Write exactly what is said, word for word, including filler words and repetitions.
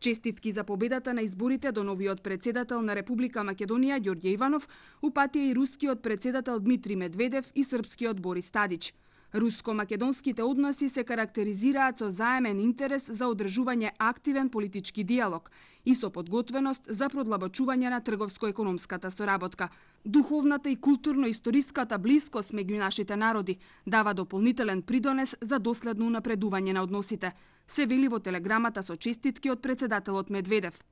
Честитки за победата на изборите до новиот председател на Република Македонија Ѓорѓе Иванов упатија и рускиот председател Дмитрий Медведев и српскиот Борис Тадич. Руско-македонските односи се карактеризираат со заемен интерес за одржување активен политички диалог и со подготвеност за продлабочување на трговско-економската соработка. Духовната и културно-историската блискост меѓу нашите народи дава дополнителен придонес за доследно унапредување на односите, се вели во телеграмата со честитки од председателот Медведев.